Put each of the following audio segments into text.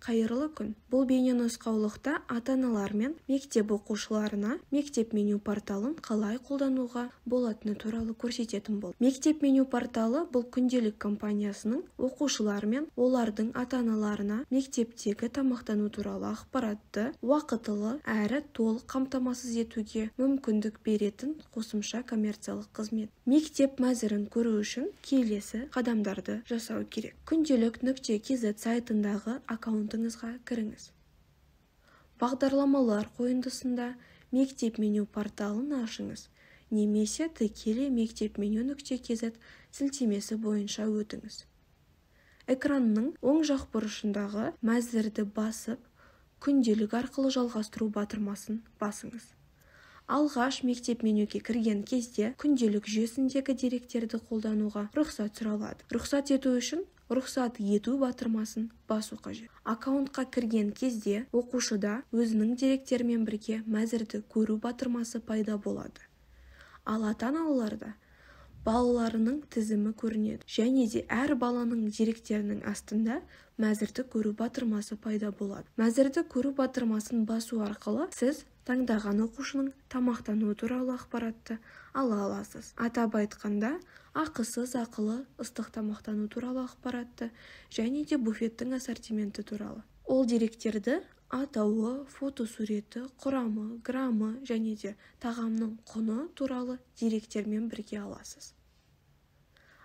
Қайырлы күн. Бұл бейненұсқаулықта ата-аналар мен мектеп оқушыларына мектеп меню порталын қалай қолдануға болатыны туралы көрсететін болды. Мектеп меню порталы бұл күнделік компаниясының оқушылар мен олардың ата-аналарына мектептегі тамақтану туралы ақпаратты уақытылы әрі толық қамтамасыз етуге мүмкіндік беретін қосымша коммерциялық қызмет. Мектеп мәзірін көру үшін келесі қадамдарды жасау керек. Күнделік.kz сайтындағы аккаунтыңызға кіріңіз. Бағдарламалар қойындысында мектеп меню порталын ашыңыз, немесе тікелей мектепменю.kz сілтемесі бойынша өтіңіз. Экранның оң жақ бұрышындағы мәзірді басып, күнделік арқылы жалғастыру батырмасын басыңыз. Алғаш мектеп менюге кірген кезде күнделік жүйесіндегі деректерді қолдануға рұқсат сұралады. Рұқсат ету үшін рұқсат ету батырмасын басу қажет. Аккаунтқа кірген кезде оқушыда өзінің деректерімен бірге мәзірді көру батырмасы пайда болады. Ал ата-аналарда балаларының тізімі көрінеді, және де әр баланың деректерінің астында мәзірді көру батырмасы пайда болады. Мәзірді көру батырмасын басу арқылы сіз таңдаған оқушының тамақтану туралы ақпаратты ала аласыз. Атап айтқанда, ақысыз ақылы ыстық тамақтану туралы ақпаратты және де буфеттің ассортименті туралы. Ол деректерді атауы, фотосуреті, құрамы, граммы және де тағамның құны туралы деректермен бірге аласыз.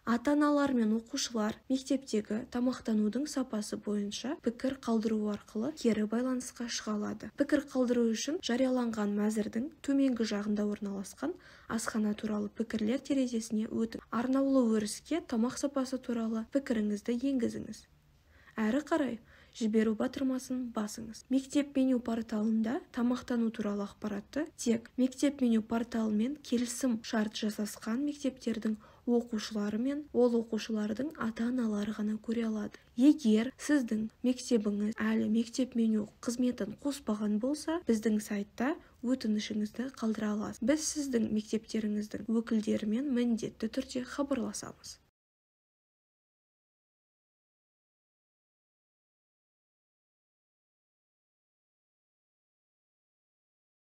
Ата-аналар мен оқушылар мектептегі тамақтанудың сапасы бойынша пікір қалдыру арқылы кері байланысқа шыға алады. Пікір қалдыру үшін жарияланған мәзірдің төменгі жағында орналасқан асхана туралы пікірлер терезесіне өтіңіз. Арнаулы өріске тамақ сапасы туралы пікіріңізді енгізіңіз. Әрі қарай жіберу батырмасын басыңыз. Мектеп меню порталында тамақтану туралы ақпаратты тек мектеп меню порталымен келісім шарт жасасқан мектептердің оқушылары мен ол оқушылардың ата-аналары ғана көре алады. Егер сіздің мектебіңіз әлі мектеп меню қызметін қоспаған болса, біздің сайтта өтінішіңізді қалдыра аласыз. Біз сіздің мектептеріңіздің өкілдерімен міндетті түрде хабарласамыз.